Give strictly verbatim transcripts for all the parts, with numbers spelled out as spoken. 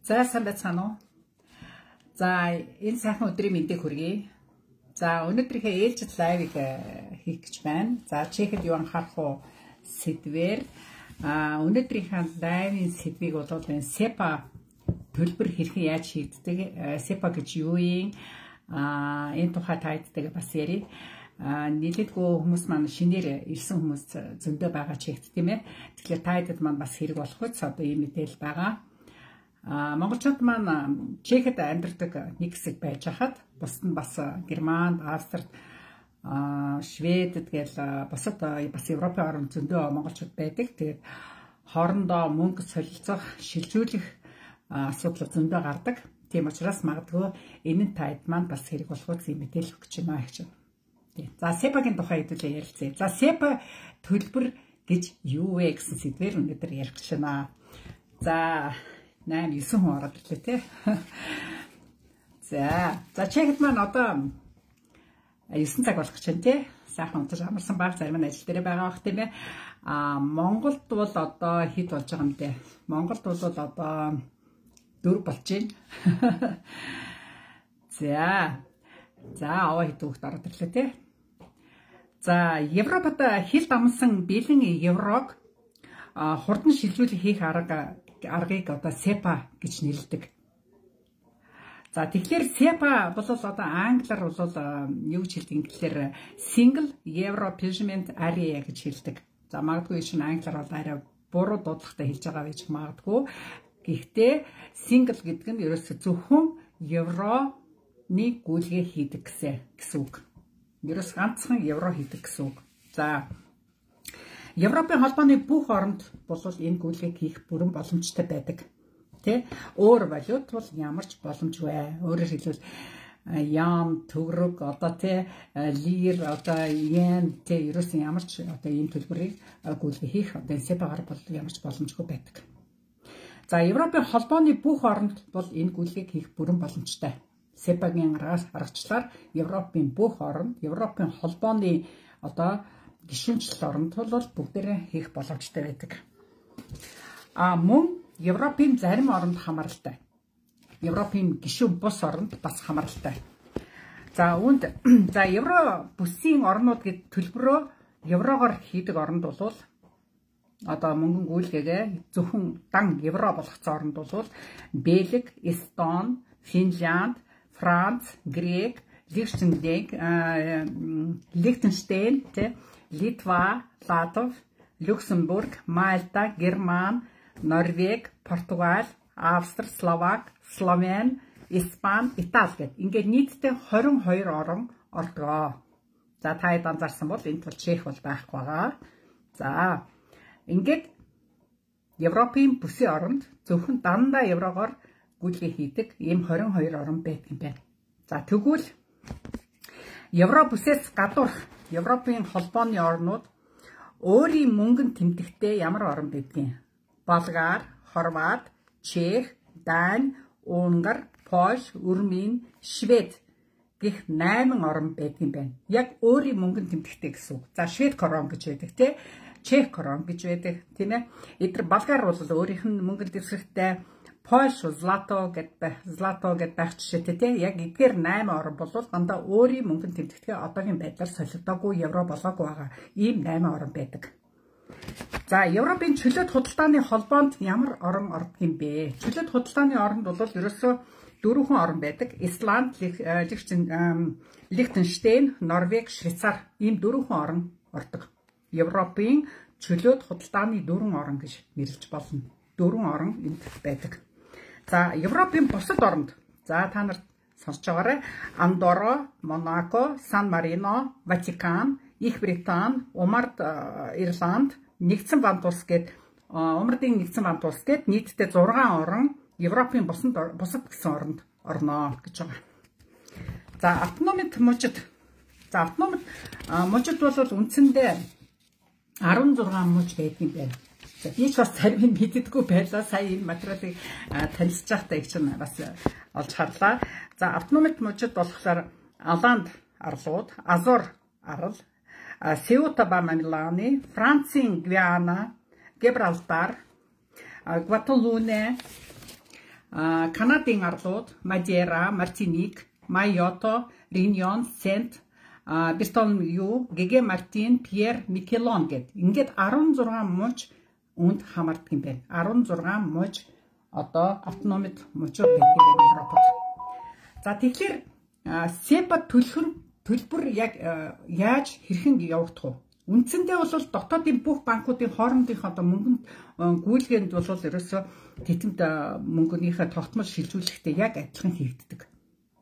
За сайн байцгаана уу? За энэ сайхан өдрийн мэндийг хүргэе. За өнөөдрийнхээ ээлжид лайвыг хийх гэж байна. За чехэд юу анхаарах уу сэдвээр а өнөөдрийнхээ лайвын сэдвийг бол энэ сепа төлбөр хэрхэн яаж хийгддэг, сепа гэж юу юм? А энэ тухай тааддаг бас ярив. А нийлэлгүй хүмүүс маань шинээр ирсэн хүмүүс зөндөө байгаа ч ихт тийм ээ. Тэгэхээр таадад маань бас хэрэг болох үс одоо ийм мэдээл байгаа. А монголчууд маань чехэд амьдардаг нэг хэсэг байж хахад бусд нь бас Германд, Австрид, Шведэд гэл бусад бас Европын орнд зөндөө монголчууд байдаг. Тэгээд хоорондоо мөнгө солилцох, шилжүүлэх асуудал зөндөө гардаг. Тийм учраас магадгүй энэ таад маань бас хэрэг болох үс ийм мэдээл өгч байна гэж байна. За сепагийн тухай хэдүүлээ ярилцъя. За сепа төлбөр гэж юу вэ гэсэн сэдвээр өнөөдөр ярих гэж байна. За найн нine хүн ороод ирлээ те. За, за чехэд маань одоо nine цаг болох гэж байна те. Сайхан унтаж амарсан баг зарим нь ажил дээр байгаа бах тийм ээ. А Монголд бол одоо хэд болж байгаа юм те. Монголд бол одоо four болж байна. За. За аваа хэд хүүхд ороод ирлээ те. За, Европод хил дамсан бэлэн еврог хурдан шилжүүлэх хийх арга аргыг одоо сепа гэж нэрлэдэг. За тэгэхээр сепа бол одоо англиар бол юу гэж хэлдэг гэхээр single euro payment area гэж хэлдэг. За магадгүй шинэ англиар бол арай буруу дуудлагатай хэлж байгаа байж магадгүй. Гэхдээ single гэдэг нь ерөөсө зөвхөн евроны гүйлгээ хийдэг гэсэн үг. Ерөөс ганцхан евро хийдэг гэсэн үг. За Европын холбооны бүх оронд бол энэ гүйлгээг хийх бүрэн боломжтой байдаг. Тэ? Өөр валют бол ямар ч боломжгүй. Өөрөөр хэлбэл ям, төгрөг, одоо тэ лир, одоо йен, тэ ерөөсөн ямар ч одоо ийм төлбөрийг гүйлгээ хийх одоо сепагаар бол ямар ч боломжгүй байдаг. За Европын холбооны бүх оронд бол энэ гүйлгээг хийх бүрэн боломжтой. Сепагийн аргачлаар Европын бүх оронд, Европын холбооны одоо гишүүнчлэл оронд бол бүгдээрээ хийх боломжтой байдаг. А мөн Европын зарим оронд хамааралтай. Европын гишүүн бус оронд бас хамааралтай. За үүнд за евро бүсийн орнууд гэдэг төлбөрөө еврогоор хийдэг оронд бол одоо мөнгөн гүйлгээгээ зөвхөн дан евро болгоцсон оронд бол Бельги, Эстон, Финлянд, Франц, Грек, Лихтенштейн, Лихтенштейн, Литва, Латв, Люксембург, Мальта, Герман, Норвеги, Португал, Австри, Словак, Словен, Испани, Итали гэдэг. Ингээд нийтдээ twenty-two орн ордгоо. За та хэд анзаарсан бол энэ тул Чех бол байхгүй байгаа. За ингээд Европын бүсийн оронд зөвхөн дандаа еврогоор гүйлгээ хийдэг ийм twenty-two орн байдаг юм байна. За тэгвэл евро бүсээс гадуурх Европын холбооны орнууд өөрийн мөнгөнд тэмдэгтээ ямар орн байдгийг? Болгар, Хорват, Чех, Дани, Унгар, Польш, Румын, Швед гэх nine орн байдгийн байна. Яг өөрийн мөнгөнд тэмдэгтээ гэсэн үг. За Швед крон гэж байдаг тий. Чех крон гэж байдаг тийм ээ. Эдгээр Болгар бол өөрийнх нь мөнгөнд дэвсгэртэй. Польш злато гэдэг злато гэдэг байх жишээтэй тий. Яг эдгээр nine орн бол дандаа өөрийн мөнгөнд тэмдэгтээ одоогийн байдлаар солигдоогүй евро болоогүй байгаа. Ийм nine орн байдаг. За Европын чөлөөт худалдааны холбоонд ямар орн ордог юм бэ? Чөлөөт худалдааны оронд бол ерөөсөө дөрвөн орн байдаг. Исланд, Лихтенштейн, Норвеги, Швейцар ийм дөрвөн орн ордог. Европын чөлөөт худалдааны дөрвөн орн гэж нэрлэж болно. Дөрвөн орн энд байдаг. За Европын бусад оронд за та нарт сонсож байгаарай. Андорра, Монако, Сан Марино, Ватикан, Их Британи, Умард, Ирланд, Нэгдсэн Бамт улс гээд Умардын Нэгдсэн Бамт улс гээд нийтдээ six орн Европын бусад бусад гэсэн оронд орноо гэж байгаа. За автономит мужид. За автономит мужид бол үндсэндээ sixteen муж байдаг юм байна. За би ч бас зарим нь мэддэггүй байлаа. Сая энэ материалыг танилцж байхдаа их чинь бас олж харлаа. За автономит мужид болохоор Аланд арлууд, Азор арал, Сеута Бамиланы, Францын Гвиана, Гибралтар, Гваталуне, Канадын арлууд Мадейра, Мартиник, Майото, Риньон, Сент Бертоломью, Геге Мартин, Пьер Микелон гэд ингээд арван зургаан мууч үнд хамаардаг юм байна. арван зургаан мууч одоо автономид муучууд байдаг юм байна Европод. За тэгэхээр СЕПА төлхөн төлбөр яг яаж хэрхэн явагдах вэ? Үндсэндээ бол дотоодын бүх банкуудын хоорондынх одоо мөнгөнд гүйлгээнд бол ерөөсөө тэтэмд мөнгөнийхөө тогтмол шилжүүлэхдээ яг адилхан хийгддэг.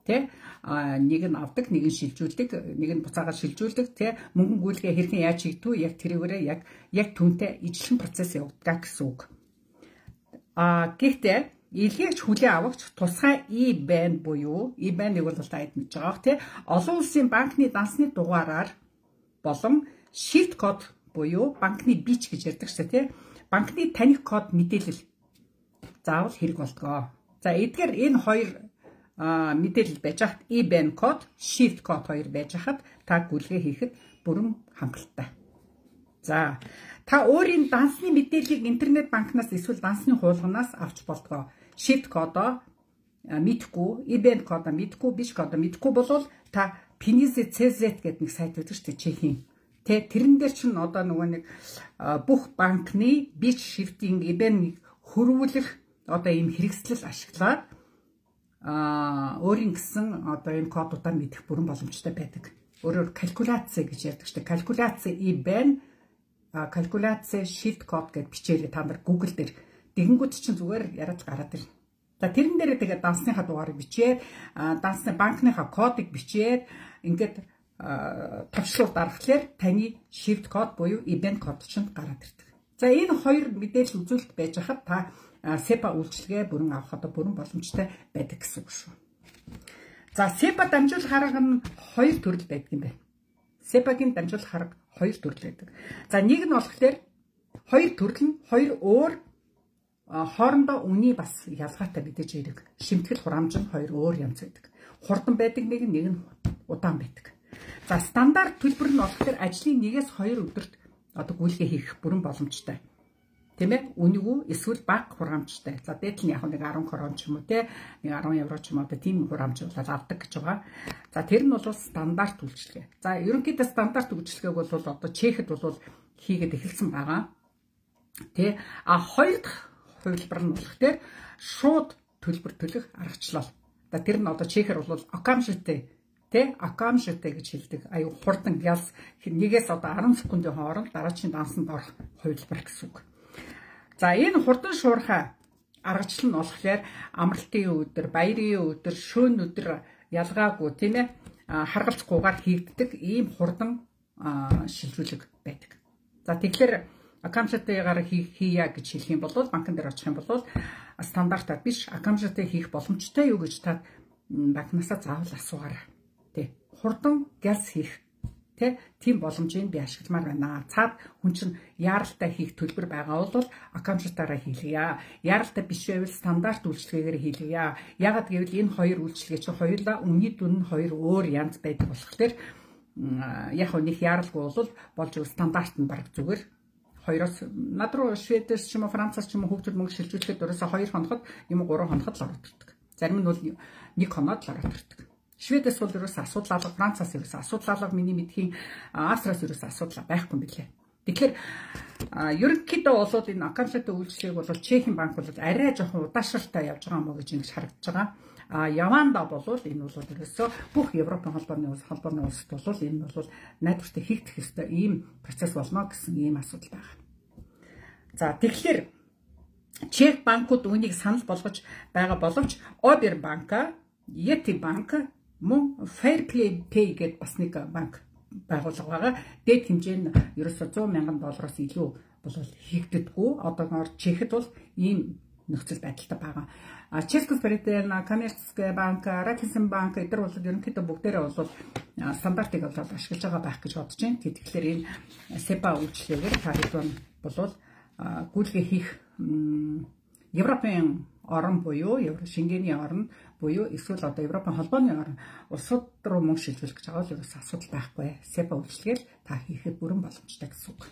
Тэ нэг нь авдаг, нэг нь шилжүүлдэг, нэг нь буцаагаар шилжүүлдэг, тэ мөнгөн гүйлгээ хэрхэн яаж хийгдв яг тэрүүгээрээ яг яг түнтэй ижлэн процесс явагддаг гэсэн үг. А гэхдээ илгээж хүлээн авагч тусгай и-бэн буюу и-бэныг бол таад мэдж байгаа бох, тэ олон улсын банкны дансны дугаараар болон Shift код буюу банкны бич гэж ярьдаг шээ, тий. Банкны таних код мэдээлэл заавал хэрэг болтгоо. За эдгээр энэ хоёр мэдээлэл байж хат и-бэн код, Shift код хоёр байж хат та гүйлгээ хийхэд бүрэн хангалттай. За та өөрийн дансны мэдээллийг интернет банкнаас эсвэл дансны хуулганаас авч болтгоо. Shift кодоо мэдхгүй, и-бэн кодоо мэдхгүй, бич кодоо мэдхгүй болвол та Pinisi цэ зэт гэдэг нэг сайт байдаг шүү дээ, Чехийн. Тэ тэрэн дээр чинь одоо нөгөө нэг бүх банкны бич шифтинг и-бэн хөрвүүлэх одоо ийм хэрэгслэл ашиглаад а өөрийн гэсэн одоо энэ кодуудаа мэдэх бүрэн боломжтой байдаг. Өөрөөр калькуляц гэж ярьдаг шүү дээ. Калькуляц и-бэн, калькуляц shift код гэж бичээрэй та нар Google дээр. Тэгэнгүүт чинь зүгээр яриад гараад ирнэ. За тэрэн дээр тэгээд дансныхаа дугаарыг бичээд, дансны банкныхаа кодыг бичээд ингээд тавчлууд дарахлаар таны shift код буюу и-бэн код чинь гараад ирдэг. За энэ хоёр мэдээлэл үзүүлэлт байж хахад та СЕПА үйлчилгээ бүрэн авах одоо бүрэн боломжтой байдаг гэсэн үг шүү. За СЕПА дамжуулах арга нь хоёр төрөл байдаг юм байна. СЕПАгийн дамжуулах арга хоёр төрөл байдаг. За нэг нь болохоор хоёр төрөл нь хоёр өөр хоорондоо үний бас ялгаатай мэдээж ирэг. Шимтгэл хураамж нь хоёр өөр янз байдаг. Хурдан байдаг нэг нь нэг нь удаан байдаг. За стандарт төлбөр нь болохоор ажлын нэгээс хоёр өдөрт одоо гүйлгээ хийх бүрэн боломжтой. Тийм ээ? Үнэгүй эсвэл бага хураамжтай. За дээд нь яг нэг арван крон ч юм уу те нэг арван евро ч юм уу тийм хураамж болоод авдаг гэж байгаа. За тэр нь бол стандарт үйлчилгээ. За ерөнхийдөө стандарт үйлчилгээг бол одоо Чехэд бол хийгээд эхэлсэн байгаа. Тэ а хоёр дахь хувилбар нь болохоор шууд төлбөр төлөх аргачлал. За тэр нь одоо Чехэр бол окамжитэй Тэ акамштай гэж хэлдэг. Аюу хурдан ялс нэгээс одоо арван секундын хооронд дараагийн дансанд орох хувилбар гэсэн үг. За энэ хурдан шуурхай аргачлал нь болохоор амралтын өдөр, баярын өдөр, шөнө өдөр ялгаагүй тийм ээ харгалзахгүйгээр хийгддэг ийм хурдан шилжүүлэг байдаг. За тэгэхээр акамшатайгаар хийя гэж хэлэх юм бол банкн дээр очих юм бол стандартаар биш акамшатай хийх боломжтой юу гэж та банкнасаа заавал асуугаарай. Тэ хурдан гялс хийх тэ тийм боломжийг би ашигламаар байна. Цаад хүн чинь яаралтай хийх төлбөр байгаа бол аккаунтаараа хийлгийа. Яаралтай биш байвал стандарт үйлчилгээгээр хийлгийа. Ягаад гэвэл энэ хоёр үйлчилгээ чинь хоёулаа өмнөний дүн нь хоёр өөр янз байдаг болохоор яг нэг яаралгүй бол болж ивэл стандарт нь баг зүгээр. Хоёроос над руу Шведээс ч юм уу Францаас ч юм уу хөгжил мөнгө шилжүүлэхэд дөрөөсө хоёр хоногт юм уу гурван хоногт л ороод ирдэг. Зарим нь бол нэг хоноод л ороод ирдэг. Шведээс бол ерөөсө асуудал алга, Францаас ерөөсө асуудал алга, миний мэдхийн Австриас ерөөсө асуудал байхгүй юм билээ. Тэгэхээр ерөнхийдөө бол энэ аккаунттай үйлчлэгийг бол Чехийн банк бол арай жоохон удаашралтай явж байгаа мó гэж ингэж харагдаж байгаа. А Яванда бол энэ бол ерөөсө бүх Европын холбооны улс холбооны улсад бол энэ бол найдвартай хийгдэх ёстой ийм процесс болно гэсэн ийм асуудал байна. За тэгэхээр Чех банкуд үүнийг санал болгож байгаа боловч Обер банка, Yeti банк мөн Fairplay Pay гэдэг бас нэг банк байгууллага байгаа. Дээд хэмжээ нь ерөөсө зуун мянган доллароос илүү бол хийгддэггүй. Одоогоор Чехэд бол ийм нөхцөл байдалтай байгаа. А Чешская коммерческая банк, Райффайзен банк эдгээр бол ерөнхийдөө бүгдээрээ бол стандартыг бол ашиглаж байгаа байх гэж бодож байна. Тэгэхээр энэ СЕПА үйлчлэгээр та хэд бол гүйлгээ хийх Европын орн буюу Евро Шенгений орн буюу эсвэл одоо Европын холбооны орн улсууд руу мөнгө шилжүүлэх гэж байгаа бол ерөөс асуудал байхгүй. СЕПА үйлчлэгээр та хийхэд бүрэн боломжтой гэсэн үг.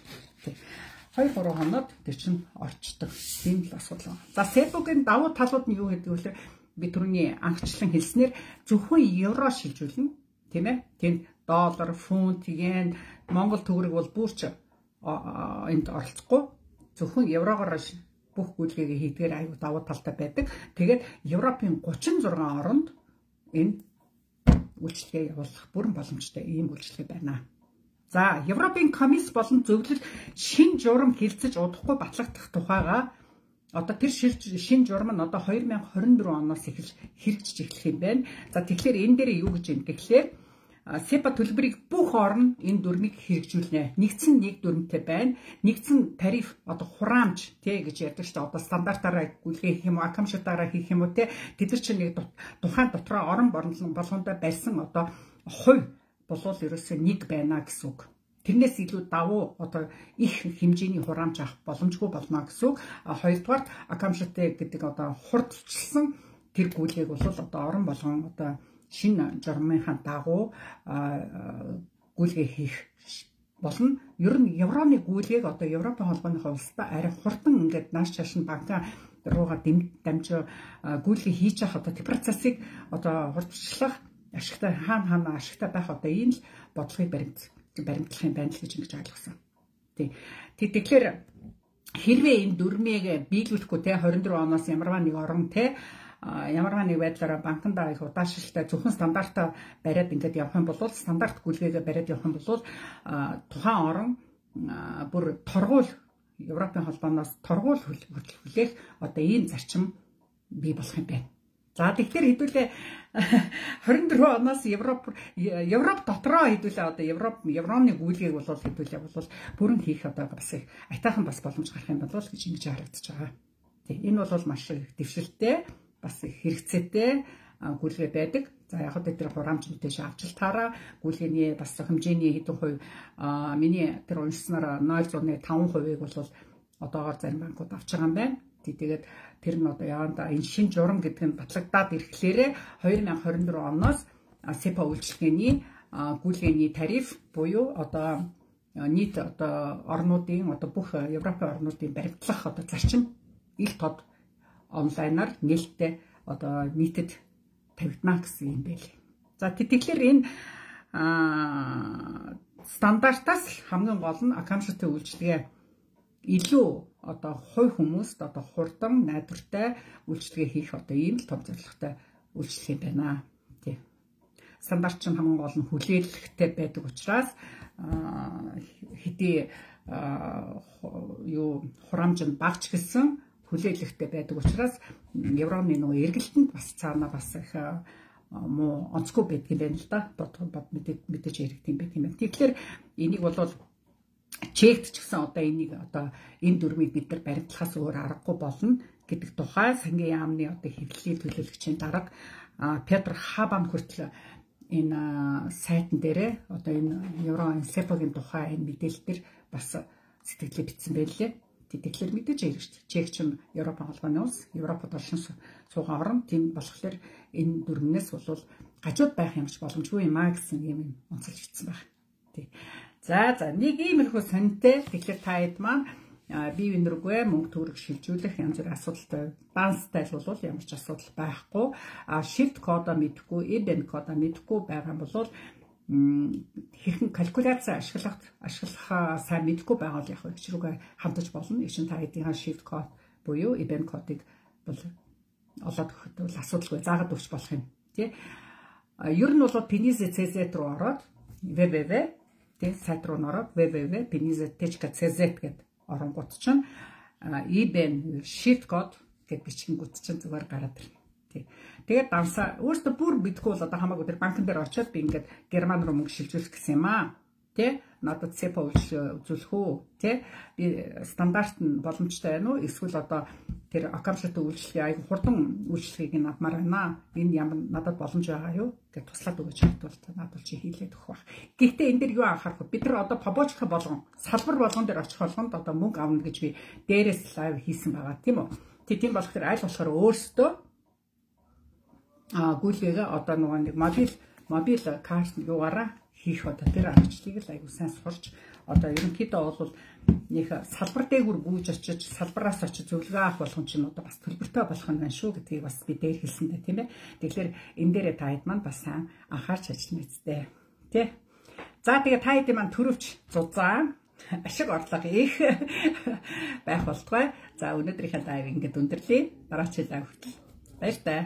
хоёр гурван хоноод тэр чинь орчдөг. Тийм л асуудал байна. За Сепогийн давуу талууд нь юу гэдэг вэ? Би түрүүний анхчлан хэлснээр зөвхөн евро шилжүүлнэ, тийм ээ? Тэнд доллар, фунт, йен, Монгол төгрөг бол бүрч энд оролцохгүй. Зөвхөн еврогоор бүх гүйлгээгээ хийдгээр аюу давуу талтай байдаг. Тэгээд Европын гучин зургаан оронд энэ үйлчлэгээ явуулах бүрэн боломжтой ийм үйлчлэгээ байна. За, Европын комисс болон зөвлөл шин журам хилцэж удахгүй батлагдах тухайга одоо тэр шин журам нь одоо хоёр мянга хорин дөрвөн оноос эхэлж хэрэгжиж эхлэх юм байна. За, тэгэхээр энэ дээр юу гэж юм гэхлээр СЕПА төлбөрийг бүх орн энэ дүрмийг хэрэгжүүлнэ. Нэгдсэн нэг дүрмтэй байна. Нэгдсэн тариф одоо хураамж тий гэж ярьдаг шүү дээ. Одоо стандартаараа гүйлгээ хийх юм уу, акамшигтаараа хийх юм уу тий. Тэд нар чинь нэг тухайн дотроо орон болгондоо барьсан одоо хувь болвол ерөөсөө нэг байна гэсэн үг. Тэрнээс илүү давуу одоо их хэмжээний хураамж авах боломжгүй болно гэсэн үг. Хоёрдугаар акамшигтэй гэдэг одоо хурдчилсан тэр гүйлгээг бол одоо орон болгон одоо шинэ журмынхаа дагуу гүйлгээ хийх болно. Ер нь евроны гүйлгээг одоо Европын холбооныхоо улстай арай хурдан ингээд нааш чааш нь банкаа руугаа дамжиж гүйлгээ хийж явах одоо тэр процессыг одоо хурдчлах ашигтай хаана хаана ашигтай байх одоо ийм л бодлогыг баримт баримтлах юм байна л гэж ингэж ойлгосон. Тий. Тэгэхээр хэрвээ энэ дүрмийг биелүүлэхгүй те хорин дөрвөн оноос ямарваа нэг орон те ямарваа нэг байдлаараа банкнда их удаашралтай зөвхөн стандартаа бариад ингээд явах юм бол стандарт гүйлгээгээ бариад явах юм бол тухайн орон бүр торгуул Европын холбооноос торгуул хүлээх одоо ийм зарчим бий болох юм байна. За тэгэхээр хэдүүлээ хорин дөрвөн оноос Европ Европ дотроо хэдүүлээ одоо Европ евроны гүйлгээг бол хэдүүлээ бол бүрэн хийх одоо бас их айтайхан бас боломж гарах юм болов гэж ингэж харагдаж байгаа. Тэг энэ бол маш их дэвшилттэй бас их хэрэгцээтэй гүйлгээ байдаг. За яг хөө тэр хураамж мэдээж авч таараа гүйлгээний бас хэмжээний хэдэн хувь миний тэр уншсанаар нуль зуун таван хувийг бол одоогоор зарим банкуд авч байгаа юм байна. Тэгээд тэр нь одоо яванда энэ шин журам гэдэг нь батлагдаад ирэхлээрээ хоёр мянга хорин дөрвөн оноос СЕПА үйлчлэгээний гүйлгээний тариф буюу одоо нийт одоо орнуудын одоо бүх Европын орнуудын баримтлах одоо зарчим их тод онлайнаар нээлттэй одоо нийтэд тавигдана гэсэн юм байл. За тэгэхээр энэ стандартаас хамгийн гол нь акамшигтэй үйлчлэгээ илүү одоо хувь хүмүүст одоо хурдан найдвартай үйлчлэгээ хийх одоо ийм л том зорилготой үйлчлэг юм байна. Тий. Стандарт чинь хамгийн гол нь хүлээлттэй байдаг учраас хэдий юу хураамж нь багч гэсэн хүлээлттэй байдаг учраас евроны нөгөө эргэлтэнд бас цаана бас их муу онцгүй байдаг юм байна л да. Бод мэдээж яригдсан байх юм байна. Тэгэхээр энийг бол Чехт ч гэсэн одоо энийг одоо энэ дүрмийг бид нар баримтлахаас өөр аргагүй болно гэдэг тухай сангийн яамны одоо хэвлэлийн төлөөлөгчийн дарга Петр Хабан хүртэл энэ сайтн дээрээ одоо энэ евро СЕПАгийн тухай энэ мэдээлэл төр бас сэтгэлээ бичсэн байлээ. Тэгэхээр мэдээж ярих шүү дээ. Чех ч Европын холбооны улс, Европод олшин суугаа орн тийм болохоор энэ дүрмнээс бол гажууд байх юмч боломжгүй юм а гэсэн юм онцолж бичсэн байна. Тий. За за нэг иймэрхүү сонинтэй тэгэхээр та хэд маань бие биенэргүй мөнгө төгрөг шилжүүлэх янз бүрийн асуудалтай банстай л бол ямар ч асуудал байхгүй. А shift кодоо мэдхгүй, IBAN кодоо мэдхгүй байгаа юм бол хэрхэн калькуляц ашиглах ашиглахаа сайн мэдхгүй байгаа л яг их рүүгээ хамтаж болно. Их чин та хэдийн shift код буюу IBAN кодыг бол олоод өгөхөд бол асуудалгүй заагаад өгч болох юм тий. Ер нь бол Penize цэ зэт руу ороод www тий сайт руу ороод www точка penize точка cz гэдэг оронгууд чинь IBAN shift код гэдэг бичгэнгүүд чинь зүгээр гараад ирнэ. Тий. Тэгээд давсаа өөртөө бүр битггүй бол одоо хамаагүй тэр банкн дээр очиод би ингээд герман руу мөнгө шилжүүлэх гэсэн юм аа. Тий. Надад СЕПА үзүүлэх үү? Тий. Би стандарт нь боломжтой байна уу? Эсвэл одоо тэр акамшигтай үйлчлэгээ аяг хурдан үйлчлэгийг нь авмаар байна. Энэ ямар надад боломж байгаа юу? Гэж туслаад өгөөч хатвал надад чи хийлээд өгөх байх. Гэхдээ энэ дэр юу анхаарах вэ? Бид нар одоо побочка болгон, салбар болгон дээр очих болгонд одоо мөнгө авна гэж би дээрээс лайв хийсэн байгаа тийм үү? Тийм болохоор аль болохоор өөрсдөө а гүйлгээгээ одоо нөгөө нэг мобил мобил карт юугаараа хийх одоо тэр аргачлалыг л аягүй сайн сурч одоо ерөнхийдөө бол нэг салбар дээгүр гүйж очиж салбараас очиж зөвлөгөө авах болгон чинь одоо бас төлбөртэй болох нь байна шүү гэдгийг бас би дээр хэлсэндээ тийм ээ. Тэгэхээр энэ дээрээ та хэд маань бас сайн анхаарч ажиллана үсттэй. Тэ. За тэгээ та хэд маань төрөвч зузаан ашиг орлого их байх болтугай. За өнөөдрийнхээ дайв ингээд өндөрлөе. Дараач удаа хүртэл баяр таа.